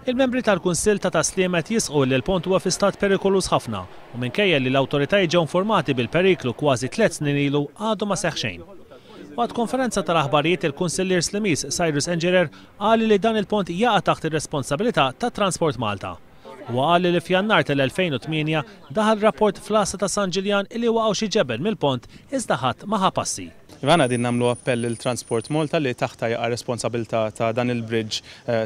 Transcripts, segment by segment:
Il-membri tal-Kunsill ta' Tas-Sliema qed jisħqu li l-pont huwa fi stat perikoluż ħafna u minkejja li l-awtoritajiet ġew informati bil-periklu kważi tlett snin ilu għadu ma seħħ xejn. Waqt konferenza tal-aħbarijiet il-Kunsillier Slimiż Cyrus Engerer qal li dan il-pont jaqa' taħt ir-responsabilità ta' Transport Malta. Huwa qal li f'Jannar tal-2008 daħal rapport fl-għassa ta' San Ġiljan illi waqgħu xi ġebel mill-pont iżda ħadd ma ħa passi. Iva aħna qegħdin nagħmlu appell lil Transport Malta li taħtha jaqa' responsabilità ta' dan il-bridge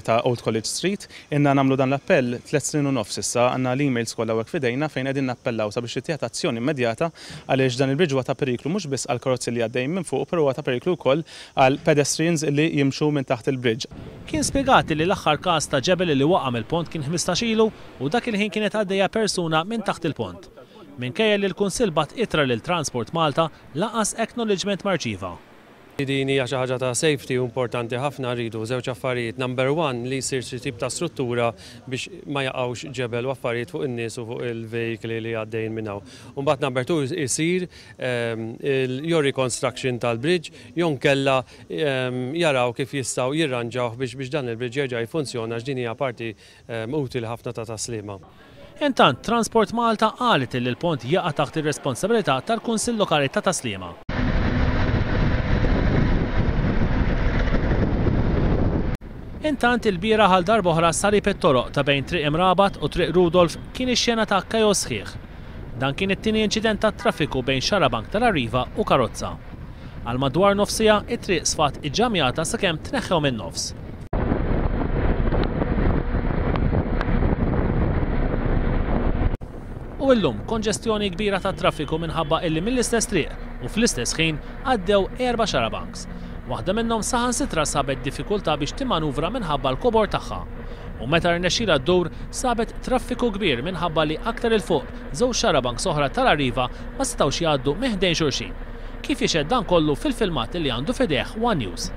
ta' Old College Street. Ilna nagħmlu dan l-appell tlett snin u nofs issa, għandna l-emails kollha hawnhekk f'idejna fejn qegħdin nappellaw sabiex tittieħed azzjoni immedjata għaliex dan il-bridge huwa ta' periklu mhux biss għall-karozzi li għaddejjin minn fuqu però huwa ta' periklu wkoll għal pedestrians li jimxu minn taħt il-bridge. Kien spjegat li l-aħħar każ ta' ġebel li waqa' mill-pont kien 15 ilu u dak il-ħin kienet għaddejja persuna minn taħt il-pont. Minkejja li l-Kunsill bagħat ittra lil Transport Malta, lanqas acknowledgement ma rċieva. Din hija xi ħaġa ta' safety u importanti ħafna rridu żewġ affarijiet. Number one li jsir xi tip ta' struttura biex ma jaqgħux ġebel u affarijiet fuq in-nies u fuq il-veikli li għaddejjin minn hawn. U mbagħad number two isir jew reconstruction tal-bridge jew nkella jaraw kif jistgħu jirranġawh biex biex dan il-bridge jerġa' jiffunzjona għax din hija parti utili ħafna ta' Tas-Sliema. Intant, Transport Malta qalet illi l-pont jaqa' taħt ir-responsabilità tal-Kunsill Lokali ta' Tas-Sliema. Intant, ilbieraħ għal darb'oħra salib it-toroq ta' bejn Triq Imrabat u Triq Rudolf kien ix-xena ta' kaos sħiħ. Dan kien it-tieni inċident tat-traffiku bejn xarabank tal-Arriva u karozza. Għal madwar nofs siegħa, it-triq sfat iġġamjata sakemm tneħħew min-nofs. U illum, konġestjoni kbira tat-traffiku minħabba illi mill-istess triq u fl-istess ħin għaddew erba' xarabanks. Waħda minnhom saħansitra sabet diffikultà biex timmanuvra minħabba l-kobor tagħha. U meta rnexxielha ddur, sabet traffiku kbir minħabba li aktar 'il fuq, żewġ xarabanks oħra tal-Arriva ma setgħux jgħaddu minn ħdejn xulxin. Kif jixhed dan kollu fil-filmat li għandu f'idejh one News.